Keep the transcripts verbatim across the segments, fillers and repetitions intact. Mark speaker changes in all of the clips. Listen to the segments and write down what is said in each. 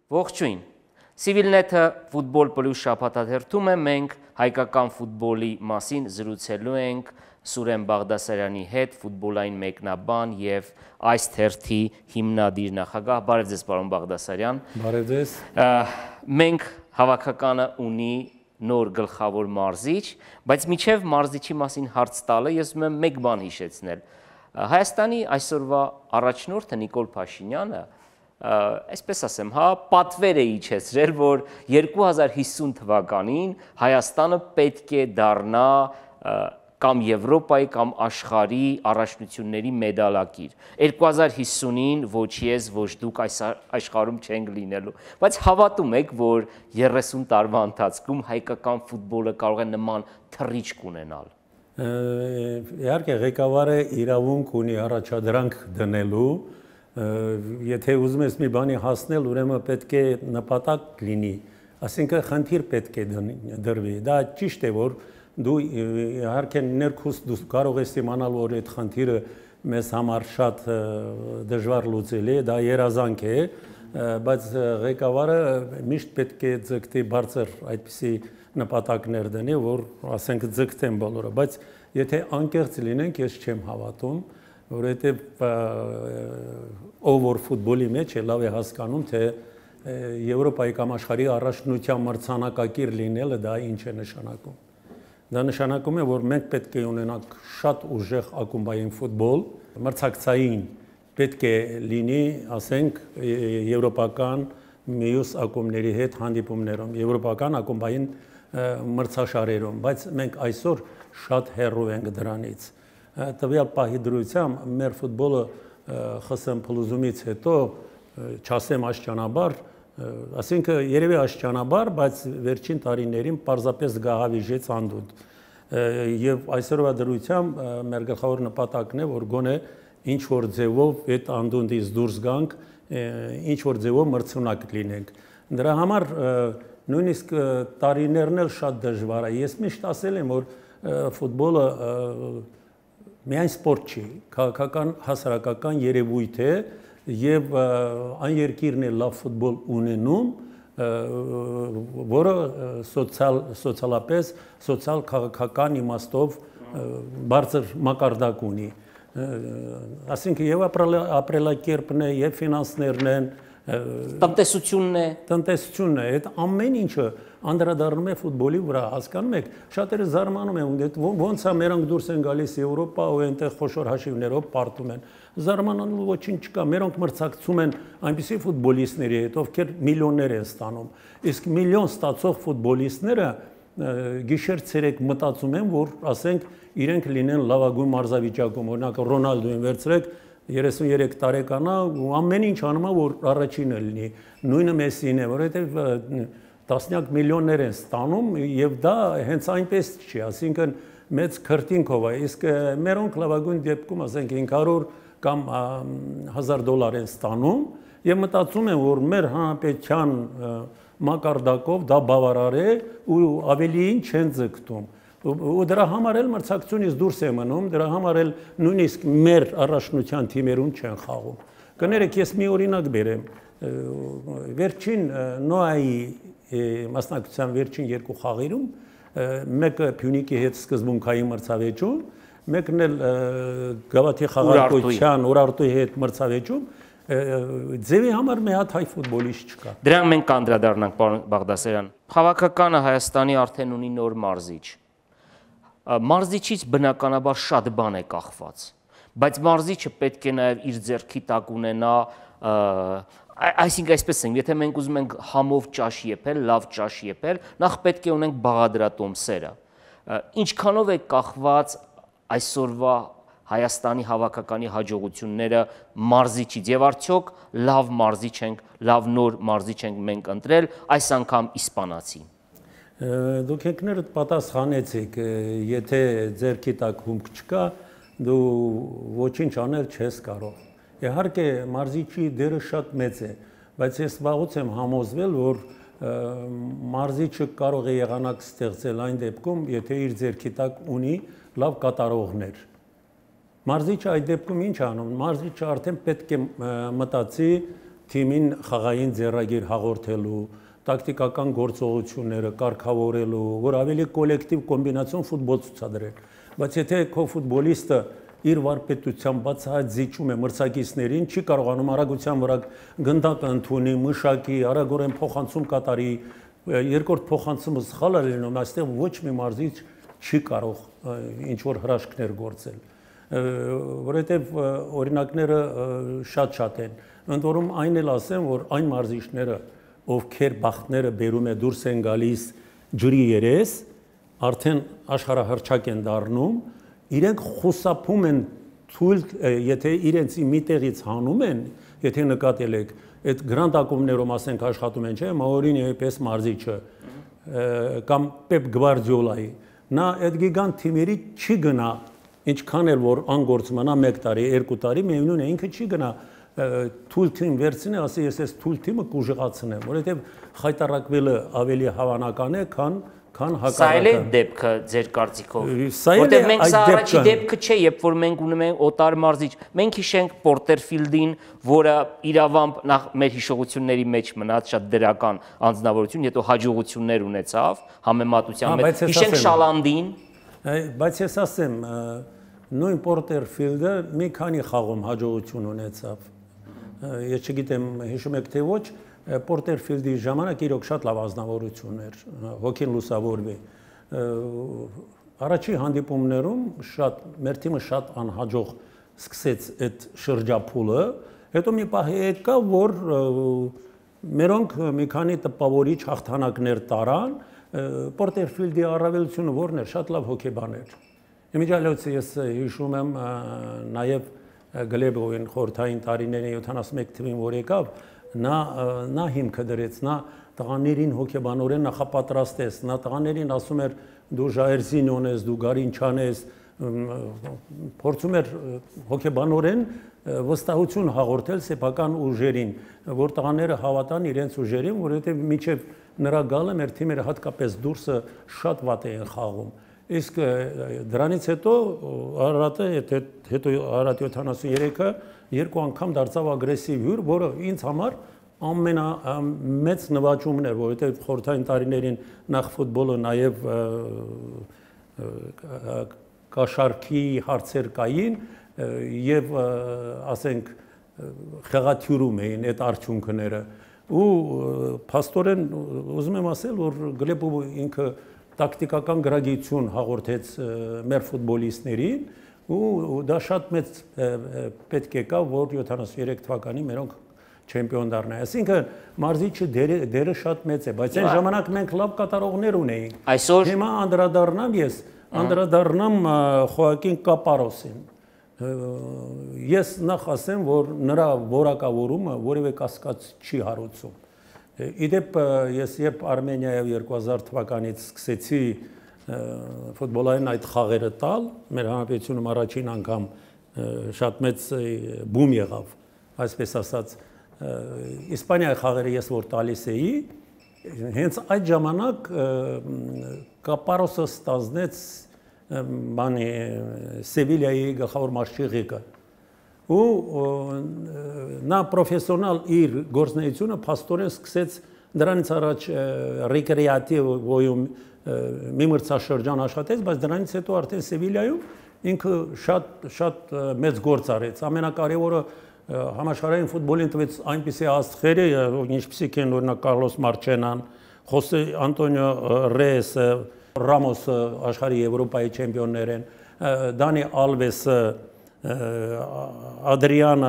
Speaker 1: Ողջույն։ Civilnet-ը ֆուտբոլ պլյուս շաբաթաթերթում է, մենք հայկական ֆուտբոլի մասին զրուցելու ենք Սուրեն Բաղդասարյանի հետ, ֆուտբոլային մեկնաբան եւ այս թերթի հիմնադիր նախագահ։ Բարև ձեզ, պարոն Բաղդասարյան։
Speaker 2: Բարև ձեզ։
Speaker 1: Մենք հավաքականը ունի նոր գլխավոր մարզիչ, բայց միջև մարզիչի մասին հարց տալը ես ուզում եմ մեկ բան հիշեցնել։ Հայաստանի այսօրվա առաջնորդը Նիկոլ Փաշինյանը, այսպես ասեմ, հա, պատվեր է իջեցրել, որ երկու հազար հիսուն թվականին Հայաստանը պետք է դառնա կամ Եվրոպայի կամ աշխարհի առաջնությունների մեդալակիր։ երկու հազար հիսունին ոչ ես, ոչ դուք այս աշխարհում չենք լինելու, բայց հավատում եք, որ երեսուն տարվա ընթացքում հայկական ֆուտբոլը կարող է նման թռիչք ունենալ։
Speaker 2: Իհարկե, ղեկավարը իրավունք ունի առաջադրանք դնելու, եթե ուզում ես մի բանի հասնել, ուրեմն պետք է նպատակ լինի, ասինքն խնդիր պետք է դրվի։ Դա ճիշտ է, որ դու իհարկե ներքուստ դու կարող ես իմանալ, որ այդ խնդիրը մեզ համար շատ դժվար լուծելի է, դա երազանք է, բայց ղեկավարը միշտ պետք է ձգտի բարձր այդպիսի նպատակներ դնի, որ ասենք ձգտեն բոլորը, բայց եթե անկեղծ լինենք, ես չեմ հավատում, որովհետև ով որ ֆուտբոլի մեջ է, լավ է հասկանում, թե Եվրոպայի կամ աշխարհի առաջնության մրցանակակիր լինելը դա ինչ է նշանակում։ Դա նշանակում է, որ մենք պետք է ունենանք շատ ուժեղ ակումբային ֆուտբոլ, մրցակցային պետք է լինի, ասենք, եվրոպական մյուս ակումբների հետ հանդիպումներում, եվրոպական ակումբային մրցաշարերում, բայց մենք այսօր շատ հեռու ենք դրանից։ Տվյալ պահի դրությամբ մեր ֆուտբոլը ԽՍՀՄ փլուզումից հետո, չասեմ աշճանաբար, ասինքն երևի աշճանաբար, բայց վերջին տարիներին պարզապես գահավիժեց անդունդ։ Եվ այսօրվա դրությամբ մեր գլխավոր նպատակն է, որ գոնե ինչ որ ձևով այդ անդունդից դուրս գանք, ինչ որ ձևով մրցունակ լինենք։ Դրա համար նույնիսկ տարիներն էլ շատ դժվար է։ Ես միշտ ասել եմ, որ ֆուտբոլը միայն սպորտ չի, քաղաքական հասարակական երևույթ է եւ այն երկիրն է լավ ֆուտբոլ ունենում, որը սոցիալ սոցիալապես սոցիալ քաղաքական իմաստով բարձր մակարդակ ունի։ Այսինքն եւ ապրելակերպն է, եւ ֆինանսներն են,
Speaker 1: տնտեսությունն է,
Speaker 2: տնտեսությունն է, այդ ամեն ինչը անդրադառնում է ֆուտբոլի վրա, հասկանում եք, շատերը զարմանում են, ոնց է մերոնք դուրս են գալիս Եվրոպա ու այնտեղ խոշոր հաշիվներով պարտում են։ Զարմանալու ոչինչ չկա, մերոնք մրցակցում են այնպիսի ֆուտբոլիստների հետ, ովքեր միլիոններ են ստանում։ Իսկ միլիոն ստացող ֆուտբոլիստները գիշեր-ցերեկ մտածում են, որ ասենք իրենք լինեն լավագույն մարզավիճակում, օրինակ Ռոնալդոին վերցրեք, երեսուններեք տարեկան է ու ամեն ինչ անում է, որ առաջինը լինի, նույնը Մեսսին է, որովհետև տասնյակ միլիոններ են ստանում եւ դա հենց այնպես չի, ասինքն մեծ քրտինքով է, իսկ մերոնք լավագույն դեպքում ասենք հինգ հարյուր կամ հազար դոլար են ստանում եւ մտածում են, որ մեր հանրապետության մակարդակով դա բավարար է ու ավելիին չեն ձգտում։ Ու դրա համար էլ մրցակցությունից դուրս է մնում, դրա համար էլ նույնիսկ մեր առաջնության թիմերում չեն խաղում։ Կներեք, ես մի օրինակ բերեմ, վերջին Նոայի մասնակցության վերջին երկու խաղերում, մեկը Փյունիկի հետ սկզբունքային մրցավեճում, մեկն էլ Գավաթի խաղարկության Ուրարտուի հետ մրցավեճում, ձևի համար մի հատ հայ ֆուտբոլիստ չկա։
Speaker 1: Դրան մենք կանդրադառնանք, պարոն Բաղդասարյան։ Քաղաքականը Հայաստանի արդեն ունի նոր մարզիչ։ Մարզիչից բնականաբար շատ բան է կախված, բայց մարզիչը պետք է նաև իր ձեռքի տակ ունենա, այսինքն այսպես ենք, եթե մենք ուզում ենք համով ճաշ եփել, լավ ճաշ եփել, նախ պետք է ունենք բաղադրատոմսերը։ Ինչքանով է կախված այսօրվա Հայաստանի հավաքականի հաջողությունները մարզիչից եւ արդյոք լավ մարզիչ ենք, լավ նոր մարզիչ ենք մենք ընտրել, այս անգամ իսպանացի։
Speaker 2: Դուք եկներդ պատասխանեցիք, եթե ձերքի տակ հումք չկա, դու ոչինչ անել չես կարող։ Իհարկե մարզիչի դերը շատ մեծ է, բայց ես վաղուց եմ համոզվել, որ մարզիչը կարող է եղանակ ստեղծել այն դեպքում, եթե իր ձեռքի տակ ունի լավ կատարողներ։ Մարզիչը այդ դեպքում ինչ անում, մարզիչը արդեն պետք է մտածի թիմին խաղային ձեռագիր հաղորդելու, տակտիկական գործողությունները կարգավորելու, որ ավելի կոլեկտիվ կոմբինացիոն ֆուտբոլ ցուցադրել։ Բայց եթե քո ֆուտբոլիստը իր վարպետությամբ բացահայտ զիջում է մրցակիցներին, չի կարողանում արագության վրա գնդակ ընդունի, մշակի, արագորեն փոխանցում կատարի, երկրորդ փոխանցումը սխալ է լինում, այստեղ ոչ մի մարզիչ չի կարող ինչ որ հրաշքներ գործել, որովհետև օրինակները շատ-շատ են։ Ընդ որում այն էլ ասեմ, որ այն մարզիչները, ովքեր բախտները բերում է դուրս են գալիս ջրի երես, արդեն աշխարհահռչակ են դառնում, իրենք խուսափում են թույլ, եթե իրենց մի տեղից հանում են, եթե նկատել եք, այդ գրանդ ակումբներում ասենք աշխատում են, չէ՞, Մաուրինիոյի պես մարզիչը կամ Պեպ Գվարդիոլայի, նա այդ գիգանտ թիմերի չի գնա, ինչքան էլ որ անգործ մնա մեկ տարի, երկու տարի, միևնույն է, ինքը չի գնա թույլ թիմ վերցնի, ասի ես այս թույլ թիմը կուժղացնեմ, որովհետև խայտարակվելը ավելի հավանական է, քան քան հակառակը։
Speaker 1: Սա էլ է դեպքը ձեր կարծիքով, որտեղ մենք սա առաջի դեպքը չէ, երբ որ մենք ունեմ ենք օտար մարզիչ, մենք հիշենք Պորտերֆիլդին, որը իրավամբ նախ մեր հիշողությունների մեջ մնաց շատ դրական անձնավորություն, հետո հաջողություններ ունեցավ համեմատության մեջ, հիշենք Շալանդին։
Speaker 2: Բայց ես ասեմ, նույն Պորտերֆիլդը մի քանի խաղում հաջողություն ունեցավ։ Ես չգիտեմ, հիշում եք թե ոչ, Պորտերֆիլդի ժամանակ իրոք շատ լավ ազնվորություն էր, հոգին լուսավորվի։ Առաջի հանդիպումներում շատ մեր թիմը շատ անհաջող սկսեց այդ շրջափուլը, հետո մի պահ եկա, որ մերոնք մի քանի տպավորիչ հաղթանակներ տարան, Պորտերֆիլդի առավելությունը որն էր, շատ լավ հոգեբան էր։ Իմիջիալոց ես հիշում եմ նաև Գլեբովին խորհրդային տարիների յոթանասունմեկ թվին, որ եկավ, նա նա հիմքը դրեց, նա տղաներին հոգեբանորեն նախապատրաստեց, նա տղաներին ասում էր դու Ժայրզինոն ես, դու Գարինչյան ես, փորձում էր հոգեբանորեն վստահություն հաղորդել սեփական ուժերին, որ տղաները հավատան իրենց ուժերին, որովհետև մինչև նրա գալը մեր թիմերը հատկապես դուրսը շատ վատ էին խաղում։ Իսկ դրանից հետո Արարատը, հետո Արարատ յոթանասուներեքը երկու անգամ դարձավ ագրեսիվ հյուր, որը ինձ համար ամենամեծ նվաճումն էր, որովհետև խորհրդային տարիներին նախ ֆուտբոլը նաև կաշառքի հարցեր կային եւ ասենք խեղաթյուրում էին այդ արդյունքները։ Ու փաստորեն ուզում եմ ասել, որ Գլեբովը ինքը տակտիկական գրագիտություն հաղորդեց մեր ֆուտբոլիստներին ու դա շատ մեծ պետք է կա, որ յոթանասուներեք թվականին մերոնք չեմպիոն դառնային։ Այսինքն մարզիչը դերը շատ մեծ է, բայց այն ժամանակ մենք լավ կատարողներ ունեինք։
Speaker 1: Այսօր
Speaker 2: հիմա անդրադառնամ ես, անդրադառնամ Խոակին Կապարոսին։ Ես նախ ասեմ, որ նրա որակավորումը որևէ կասկած չի հարուցում։ Իդեպ ես երբ Արմենիայով երկու հազար թվականից սկսեցի ֆուտբոլային այդ խաղերը տալ, մեր հանրապետությունում առաջին անգամ շատ մեծ բում եղավ, այսպես ասած, Իսպանիայի խաղերը ես որ տալիս էի, հենց այդ ժամանակ Կապարոսը ստանձնեց բանի Սևիլիայի գլխավոր մարզչի ու նա պրոֆեսիոնալ իր գործունեությունը փաստորեն սկսեց դրանից առաջ ռեկրեատիվ ոյում մի մրցաշրջան աշխատեց, բայց դրանից հետո արդեն Սևիլիայում ինքը շատ շատ մեծ գործ արեց։ Ամենակարևորը համաշխարհային ֆուտբոլին տվեց այնպիսի աստղեր, ինչպիսիք են օրինակ Կարլոս Մարչենան, Խոսե Անտոնիո Ռեյեսը, Ռամոսը աշխարհի Եվրոպայի չեմպիոններ են, Դանի Ալվեսը, Ադրիանը,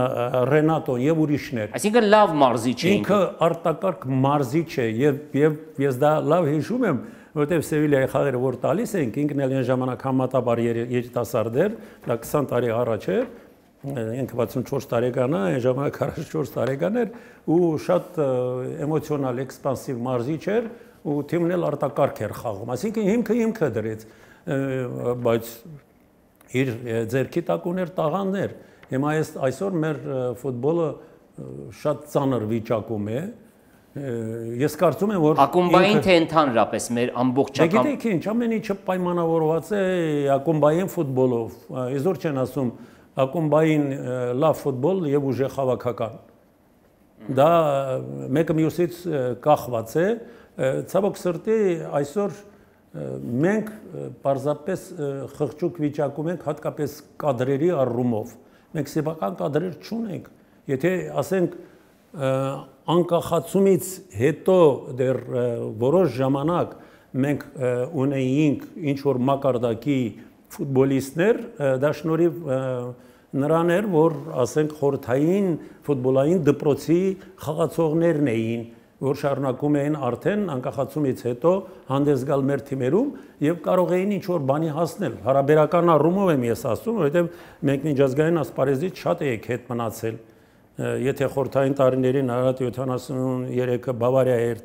Speaker 2: Ռենատոն եւ ուրիշներ։
Speaker 1: Այսինքն լավ մարզիչ է։
Speaker 2: Ինքը արտակարգ մարզիչ է եւ եւ ես դա լավ հիշում եմ, որտեղ Սևիլիայի խաղերը որ տալիս ենք, ինքն էլ այն ժամանակ համատաբար երիտասարդ էր, դա քսան տարի առաջ էր, ինքը վաթսունչորս տարեկան է, այն ժամանակ քառասունչորս տարեկան էր ու շատ էմոցիոնալ, էքսպանսիվ մարզիչ էր ու թիմն էլ արտակարգ էր խաղում։ Այսինքն հիմքը հիմքը դրեց, բայց իր ձերքի տակ ուներ տաղաններ։ Հիմա այսօր մեր ֆուտբոլը շատ ծանր վիճակում է։ Ես կարծում եմ, որ
Speaker 1: ակումբային թե ընդհանրապես մեր ամբողջական։
Speaker 2: Գիտեք ինչ, ամեն ինչը պայմանավորված է ակումբային ֆուտբոլով։ Այսօր չեն ասում ակումբային լավ ֆուտբոլ եւ ուժեղ հավաքական։ Դա մեկը մյուսից կախված է, ցավոք սրտի այսօր մենք պարզապես խղճուկ վիճակում ենք հատկապես կադրերի առումով։ Մենք սեփական կադրեր չունենք։ Եթե ասենք անկախացումից հետո դեռ որոշ ժամանակ մենք ունեինք ինչ որ մակարդակի ֆուտբոլիստներ, դա շնորհիվ նրան էր, որ ասենք խորհրդային ֆուտբոլային դպրոցի խաղացողներն էին, որ շարունակում էին արդեն անկախացումից հետո հանդես գալ մեր թիմերում եւ կարող էին ինչ որ բանի հասնել։ Հարաբերական առումով եմ ես ասում, որովհետեւ մենք միջազգային ասպարեզից շատ էինք հետ մնացել։ Եթե խորհրդային տարիներին Արարատ յոթանասուներեքը Բավարիա էր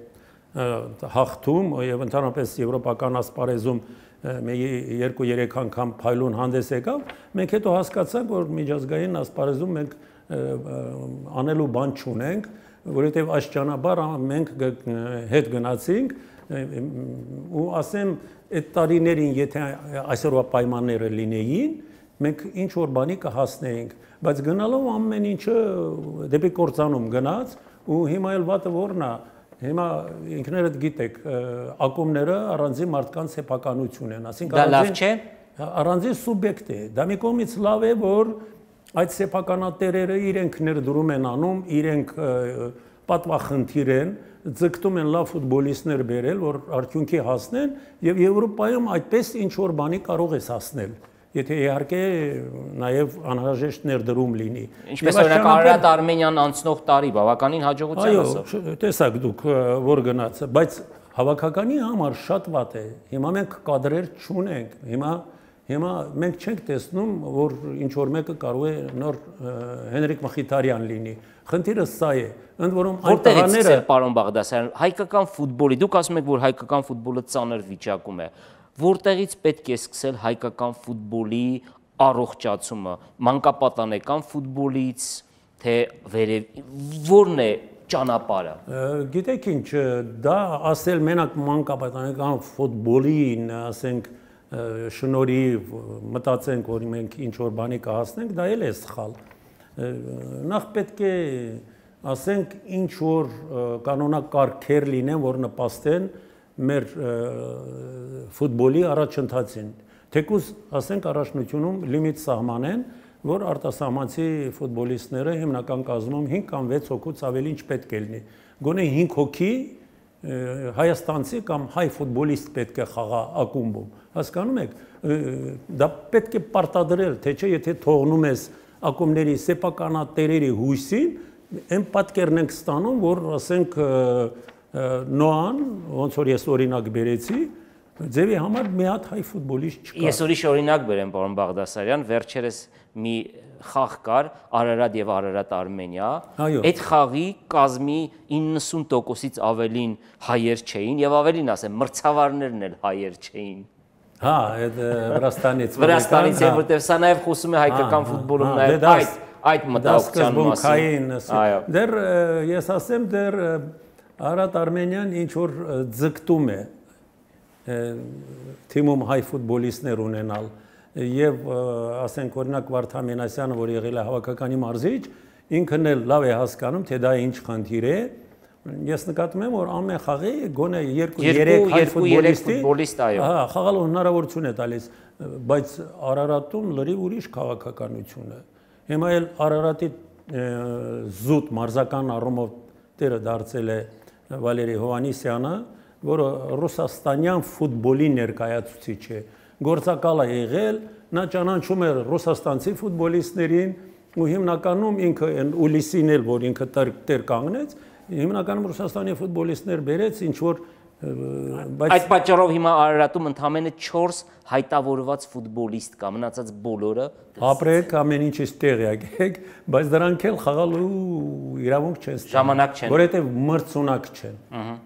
Speaker 2: հաղթում եւ ընդհանրապես եվրոպական ասպարեզում երկու-երեք անգամ փայլուն հանդես եկավ, մենք հետո հասկացանք, որ միջազգային ասպարեզում մենք անելու բան չունենք, որովհետեւ աշճանաբար մենք հետ գնացինք ու ասեմ այդ տարիներին եթե այսօրվա պայմանները լինեին, մենք ինչ որ բանի կհասնեինք, բայց գնալով ամեն ինչը դեպի կործանում գնաց ու հիմա էլ վատը որն է, հիմա ինքներդ գիտեք, ակումբները առանձին մարդկանց սեփականություն են, ասենք
Speaker 1: դա լավ չէ,
Speaker 2: առանձին սուբյեկտ է, դա մի կողմից լավ է, որ այդ սեփականատերերը իրենք ներդրում են անում, իրենք պատվախնդիր են, ձգտում են լավ ֆուտբոլիստներ բերել, որ արդյունքի հասնեն եւ Եվրոպայում այդպես ինչ որ բանի կարող ես հասնել։ Եթե իհարկե նաև անհրաժեշտ ներդրում լինի։
Speaker 1: Ինչպես օրինակ Արարատ Արմենիան անցնող տարի բավականին հաջողության ասավ։
Speaker 2: Այո, տեսակ դուք որ գնաց, բայց հավաքականի համար շատ վատ է։ Հիմա մենք կադրեր չունենք։ Հիմա հիմա մենք չենք տեսնում, որ ինչ որ մեկը կարող է նոր Հենրիկ Մխիթարյան լինի։ Խնդիրը սա է։ Ընդ որում այն տղաները,
Speaker 1: պարոն Բաղդասարյան, հայկական ֆուտբոլի, դուք ասում եք, որ հայկական ֆուտբոլը ծանր վիճակում է։ Որտեղից պետք է սկսել հայկական ֆուտբոլի առողջացումը, մանկապատանեկան ֆուտբոլից, թե վերև որն է ճանապարհը։
Speaker 2: Գիտեք ինչ, դա ասել մենակ մանկապատանեկան ֆուտբոլին, ասենք շնորհիվ մտածենք, որ մենք ինչ որ բանի կհասնենք, դա էլ է սխալ։ Նախ պետք է ասենք ինչ որ կանոնակարգեր լինեն, որ նպաստեն մեր ֆուտբոլի առաջընթացին, թեկուզ ասենք առաջնությունում լիմիտ սահմանեն, որ արտասահմանցի ֆուտբոլիստները հիմնական կազմում հինգ կամ վեց հոգուց ավելի ինչ պետք է լինի։ Գոնե հինգ հոգի հայաստանցի կամ հայ ֆուտբոլիստ պետք է խաղա ակումբում։ Հասկանում եք, դա պետք է պարտադրել, թե չէ եթե թողնում ես ակումբների սեփականատերերի հույսին, այն պատկերն ենք ստանում, որ ասենք Նոան, ոնց որ ես օրինակ բերեցի, ձևի համար մի հատ հայ ֆուտբոլիստ չկա։
Speaker 1: Ես ուրիշ օրինակ բերեմ, պարոն Բաղդասարյան, վերջերս մի խաղ կար Արարատ եւ Արարատ Արմենիա, այդ խաղի կազմի իննսուն տոկոսից ավելին հայեր չէին եւ ավելին ասեմ, մրցավարներն էլ հայեր չէին։
Speaker 2: Հա, այդ Վրաստանից։
Speaker 1: Վրաստանից է, որտեղ սա նաեւ խոսում է հայկական ֆուտբոլում նաեւ այդ այդ մտահոգության մասին։
Speaker 2: Այո։ Դեռ ես ասեմ, դեռ Արարատ Արմենիան ինչ որ ձգտում է թիմում հայ ֆուտբոլիստներ ունենալ եւ ասենք օրինակ Վարդան Մենասյանը, որ եղել է հավաքականի մարզիչ, ինքն էլ լավ է հասկանում, թե դա ինչ խնդիր է։ Ես նկատում եմ, որ ամեն խաղի գոնե երկու-երեք հայ ֆուտբոլիստի, հա, խաղալու հնարավորություն է տալիս, բայց Արարատում լրիվ ուրիշ քաղաքականություն է։ Հիմա էլ Արարատի զուտ մարզական առումով տերը դարձել է Վալերի Հովանիսյանը, որը ռուսաստանյան ֆուտբոլի ներկայացուցիչ է, գործակալ է եղել, նա ճանաչում է ռուսաստանցի ֆուտբոլիստներին ու հիմնականում ինքը Ուլիսին էլ, որ ինքը տեր կանգնեց, հիմնականում Ռուսաստանի ֆուտբոլիստներ բերեց, ինչ որ
Speaker 1: այդ պատճառով հիմա Արարատում ընդամենը չորս հայտավորված ֆուտբոլիստ կա, մնացած բոլորը
Speaker 2: ապրեք, ամեն ինչից տեղյակ եք, բայց դրանք էլ խաղալու իրավունք չեն ստանում,
Speaker 1: ժամանակ չեն,
Speaker 2: որովհետև մրցունակ չեն։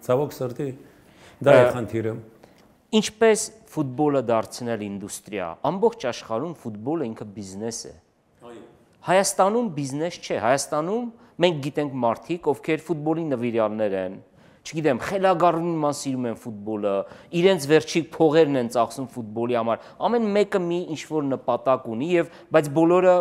Speaker 2: Ցավոք սրտի դա է խնդիրը։
Speaker 1: Ինչպես ֆուտբոլը դարձնել ինդուստրիա, ամբողջ աշխարհում ֆուտբոլը ինքը բիզնես է։ Հայաստանում բիզնես չէ, Հայաստանում մենք գիտենք մարդիկ, ովքեր ֆուտբոլի նվիրյալներ են, չգիտեմ, խելագարուն ման սիրում են ֆուտբոլը, իրենց վերջի փողերն են ծախսում ֆուտբոլի համար, ամեն մեկը մի ինչ-որ նպատակ ունի եւ բայց բոլորը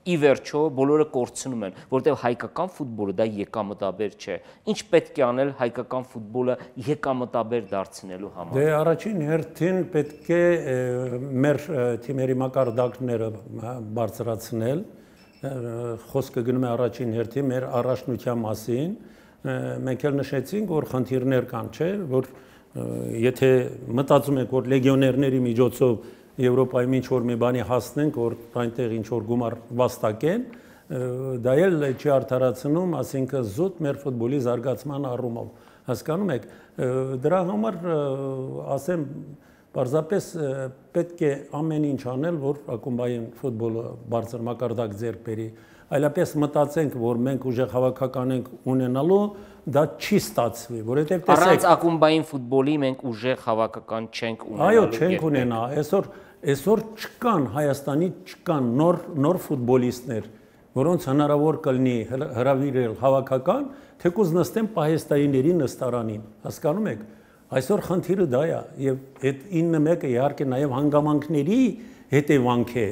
Speaker 1: ի վերջո բոլորը կորցնում են, որտեղ հայկական ֆուտբոլը դա եկամտաբեր չէ։ Ինչ պետք է անել հայկական ֆուտբոլը եկամտաբեր դարձնելու համար։
Speaker 2: Դե առաջին հերթին պետք է մեր թիմերի մակարդակները բարձրացնել, խոսքը գնում է առաջին հերթին մեր առաջնության մասին, մենք էլ նշեցինք, որ խնդիրներ կան, չէ, որ եթե մտածում եք, որ լեգիոներների միջոցով Եվրոպայում ինչ-որ մի բանի հասնենք, որ այնտեղ ինչ-որ գումար վաստակեն, դա էլ չի արդարացնում, ասինքն զուտ մեր ֆուտբոլի զարգացման առումով, հասկանում եք, դրա համար ասեմ, պարզապես պետք է ամեն ինչ անել, որ ակումբային ֆուտբոլը բարձր մակարդակ ձեռք բերի, այլապես մտածենք, որ մենք ուժեղ հավաքական ենք ունենալու, դա չի ստացվի, որովհետև տեսեք
Speaker 1: առանց ակումբային ֆուտբոլի մենք ուժեղ հավաքական չենք ունենալու։
Speaker 2: Այո, չենք ունենա, այսօր այսօր չկան Հայաստանի չկան նոր նոր ֆուտբոլիստներ, որոնց հնարավոր կլինի հրավիրել հավաքական, թեկուզ նստեն պահեստայիների նստարանին, հասկանում եք։ Այսօր խնդիրը դա է, եւ այդ ինը մեկը իհարկե նաեւ հանգամանքների հետևանք է,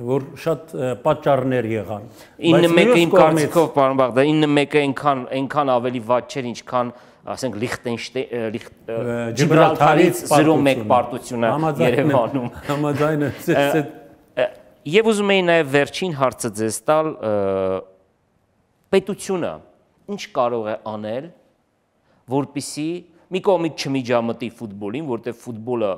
Speaker 2: որ շատ պատճառներ եղան։
Speaker 1: ինը մեկը իմ կարծիքով, պարոն Բաղդասարյան, ինը մեկը այնքան այնքան ավելի վատ չէր, ինչքան ասենք Լիխտենշտեյն Ջիբրալթարից զրո մեկ պարտությունը Երևանում։
Speaker 2: Համաձայն եմ։
Speaker 1: Եվ ուզում եի նաև վերջին հարցը ձեզ տալ, պետությունը ինչ կարող է անել, որպեսզի մի կողմից չմիջամտի ֆուտբոլին, որտեղ ֆուտբոլը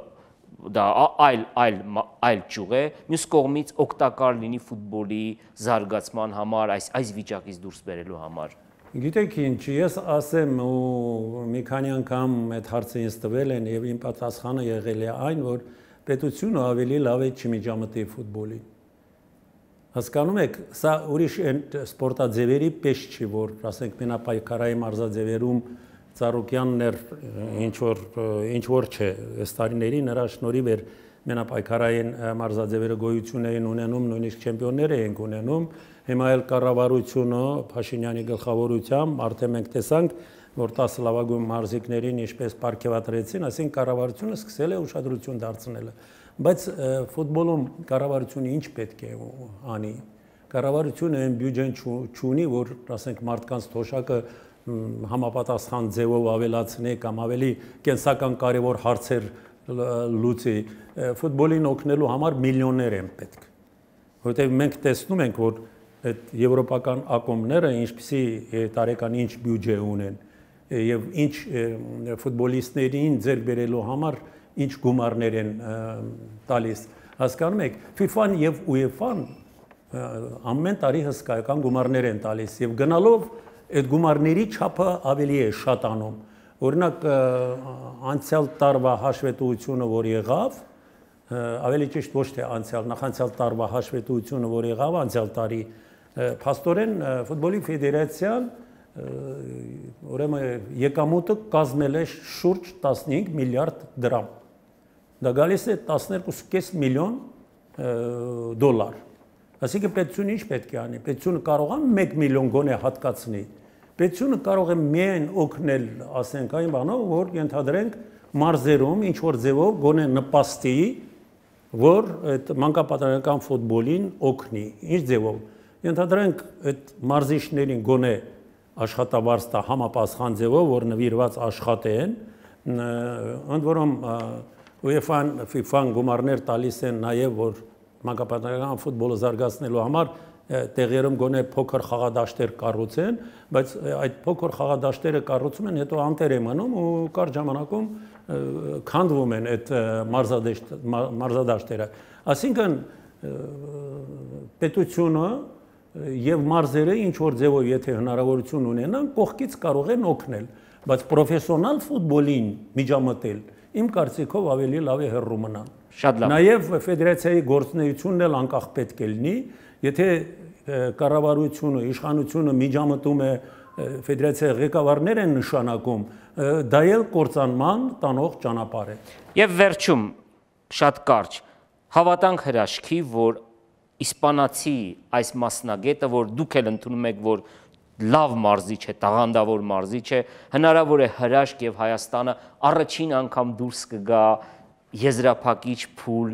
Speaker 1: դա այլ այլ այլ ճյուղ է, մյուս կողմից օգտակար լինի ֆուտբոլի զարգացման համար, այս այս վիճակից դուրս բերելու համար։
Speaker 2: Գիտեք ինչ, ես ասեմ ու մի քանի անգամ այդ հարցը ինձ տվել են եւ իմ պատասխանը եղել է այն, որ պետությունը ավելի լավ է չմիջամտի ֆուտբոլին։ Հասկանում եք, սա ուրիշ սպորտաձևերի պես չի, որ ասենք մենապայքարային մարզաձևերում Ծառուկյաններ ինչ որ ինչ որ չէ, այս տարիների նրա շնորհիվ էր մենապայքարային մարզաձևերը գոյություն էին ունենում, նույնիսկ չեմպիոններ էին ունենում, հիմա էլ կառավարությունը Փաշինյանի գլխավորությամբ արդեն մենք տեսանք, որ տասը լավագույն մարզիկներին ինչպես պարգևատրեցին, այսինքն կառավարությունը սկսել է ուշադրություն դարձնելը, բայց ֆուտբոլում կառավարությունը ինչ պետք է անի։ Կառավարությունը այն բյուջեն չունի, որ ասենք մարդկանց թոշակը համապատասխան ձևով ավելացնի կամ ավելի կենսական կարևոր հարցեր լուծի, ֆուտբոլին օգնելու համար միլիոններ են պետք, որովհետև մենք տեսնում ենք, որ այդ եվրոպական ակումբները ինչպիսի տարեկան ինչ բյուջե ունեն եւ ինչ ֆուտբոլիստներին ձեռք բերելու համար ինչ գումարներ են տալիս, հասկանում եք, FIFA-ն եւ UEFA-ն ամեն տարի հսկայական գումարներ են տալիս եւ գնալով այդ գումարների չափը ավելի է շատանում։ Օրինակ անցյալ տարվա հաշվետվությունը, որ եղավ, ավելի ճիշտ ոչ թե անցյալ, նախանցյալ տարվա հաշվետվությունը, որ եղավ անցյալ տարի, փաստորեն ֆուտբոլի ֆեդերացիան ուրեմն եկամուտը կազմել է շուրջ տասնհինգ միլիարդ դրամ։ Դա գալիս է տասներկու կես միլիոն դոլար։ Այսինքն պետությունը ինչ պետք է անի։ Պետությունը կարող է մեկ միլիոն գոնե հատկացնի։ Պետությունը կարող է միայն օգնել, ասենք, այն բանով, որ ենթադրենք մարզերում ինչ որ ձևով գոնե նպաստի, որ այդ մանկապատանեկան ֆուտբոլին օգնի։ Ինչ ձևով։ Ենթադրենք այդ մարզիչներին գոնե աշխատավարձ տա համապատասխան ձևով, որ նվիրված աշխատեն, ընդ որում UEFA-ն, FIFA-ն գումարներ տալիս են նաև, որ մանկապատանեկան ֆուտբոլը զարգացնելու համար տեղերում գոնե փոքր խաղադաշտեր կառուցեն, բայց այդ փոքր խաղադաշտերը կառուցում են, հետո անտեր են մնում ու կարճ ժամանակում քանդվում են այդ մարզադաշտերը։ Այսինքն պետությունը եւ մարզերը ինչ որ ձևով եթե հնարավորություն ունենան, կողքից կարող են օգնել, բայց պրոֆեսիոնալ ֆուտբոլին միջամտել իմ կարծիքով ավելի լավ է հեռու մնան։
Speaker 1: Շատ լավ։
Speaker 2: Նաև ֆեդերացիայի գործունեությունն էլ անկախ պետք է լինի, եթե կառավարությունը, իշխանությունը միջամտում է, ֆեդերացիայի ղեկավարներ են նշանակում, դա էլ կործանման տանող ճանապարհ է։
Speaker 1: Եվ վերջում շատ կարճ հավատանք հրաշքի, որ իսպանացի այս մասնագետը, որ դուք էլ ընդունում եք, որ լավ մարզիչ է, տաղանդավոր մարզիչ է, հնարավոր է հրաշք եւ Հայաստանը առաջին անգամ դուրս կգա եզրափակիչ փուլ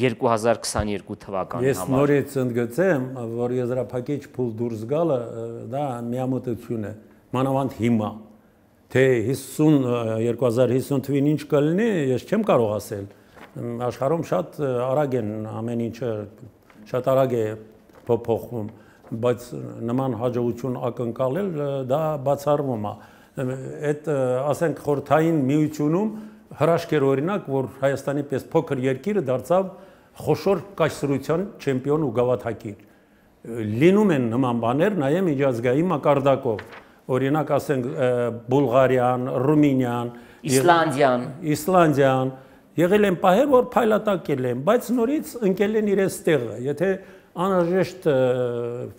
Speaker 1: երկու հազար քսաներկու թվականի
Speaker 2: համար։ Ես նորից ընդգծեմ, որ եզրափակիչ փուլ դուրս գալը դա միամտություն է, մանավանդ հիմա։ Թե հիսուն երկու հազար հիսուն թվին ինչ կլինի, ես չեմ կարող ասել։ Աշխարհում շատ արագ են ամեն ինչը շատ արագ է փոփոխվում, բայց նման հաջողություն ակնկալել դա բացառվում է։ Այդ ասենք խորհրդային միությունում հրաշք էր օրինակ, որ Հայաստանի պես փոքր երկիրը դարձավ խոշոր կայսրության չեմպիոն ու գավաթակիր։ Լինում են նման բաներ նաև միջազգային մակարդակով։ Օրինակ ասենք Բուլղարիան, Ռումինիան,
Speaker 1: Իսլանդիան,
Speaker 2: Իսլանդիան եղել են պահեր, որ փայլատակել են, բայց նորից ընկել են իրենց տեղը։ Եթե անհրաժեշտ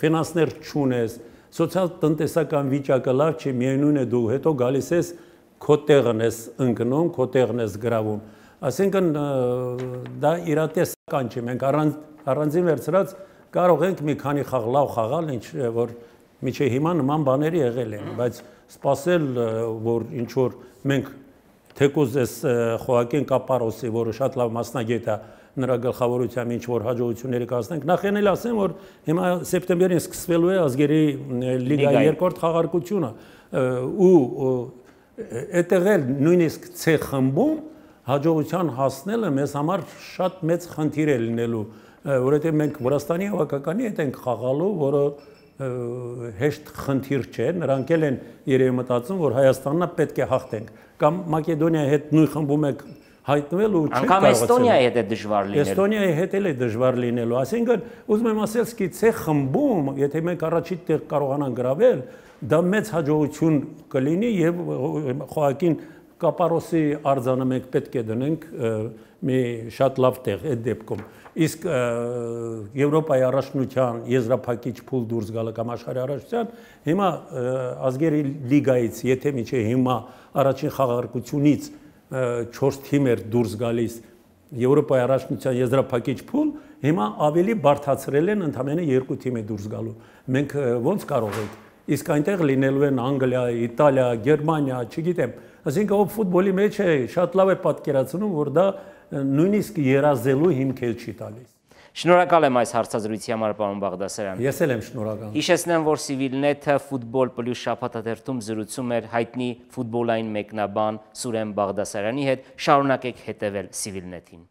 Speaker 2: ֆինանսներ չունես, սոցիալ-տնտեսական վիճակը լավ չի, միևնույն է դու հետո գալիս ես քո տեղն ես ընկնում, քո տեղն ես գրավում։ Այսինքն դա իրատեսական չէ։ Մենք առանձին վերցրած կարող ենք մի քանի խաղ լավ խաղալ, ինչ որ միջի հիմա նման բաներ եղել են, բայց սпасել, որ ինչ որ մենք թեկուզ այս Խոակին Կապարոսի, որը շատ լավ մասնագետ է, նրա գլխավորությամբ ինչ որ հաջողությունների կազմենք, նախ էլ ասեմ, որ հիմա սեպտեմբերին սկսվելու է ազգերի լիգայի երկրորդ խաղարկությունը ու այդտեղ էլ նույնիսկ C խմբում հաջողության հասնելը մեզ համար շատ մեծ խնդիր է լինելու, որովհետև մենք Վրաստանի հավաքականի հետ ենք խաղալու, որը հեշտ խնդիր չէ, նրանք էլ են երևի մտածում, որ Հայաստանն պետք է հաղթենք, կամ Մակեդոնիայի հետ նույն խմբում եք հայտնվել ու չեք
Speaker 1: կարողացել։ Անկամ Էստոնիայի հետ է դժվար լինելու։
Speaker 2: Էստոնիայի հետ էլ է դժվար լինելու, այսինքն ուզում եմ ասել, սկի C խմբում, եթե մենք առաջին տեղ կարողանանք գրավել, դա մեծ հաջողություն կլինի եւ Խոակին Կապարոսի արձանը մենք պետք է դնենք մի շատ լավ տեղ այդ դեպքում։ Իսկ Եվրոպայի առաջնության եզրափակիչ փուլ դուրս գալը կամ աշխարհի առաջնության հիմա ազգերի լիգայից, եթե միջի հիմա առաջին խաղարկությունից չորս թիմ էր դուրս գալիս Եվրոպայի առաջնության եզրափակիչ փուլ, հիմա ավելի բարդացրել են ընդամենը երկու թիմի դուրս գալու։ Մենք ո՞նց կարող ենք։ Իսկ այնտեղ լինելու են Անգլիա, Իտալիա, Գերմանիա, չգիտեմ, այսինքն ով ֆուտբոլի մեջ է, շատ լավ է պատկերացնում, որ դա նույնիսկ երազելու հիմք էլ չի տալիս։
Speaker 1: Շնորհակալ եմ այս հարցազրույցի համար, պարոն Բաղդասարյան։
Speaker 2: Ես էլ եմ շնորհակալ։
Speaker 1: Հիշեցնեմ, որ Civilnet-ը Football Plus շաբաթաթերթում զրուցում էր հայտնի ֆուտբոլային մեկնաբան Սուրեն Բաղդասարյանի հետ։ Շարունակեք հետևել Civilnet-ին։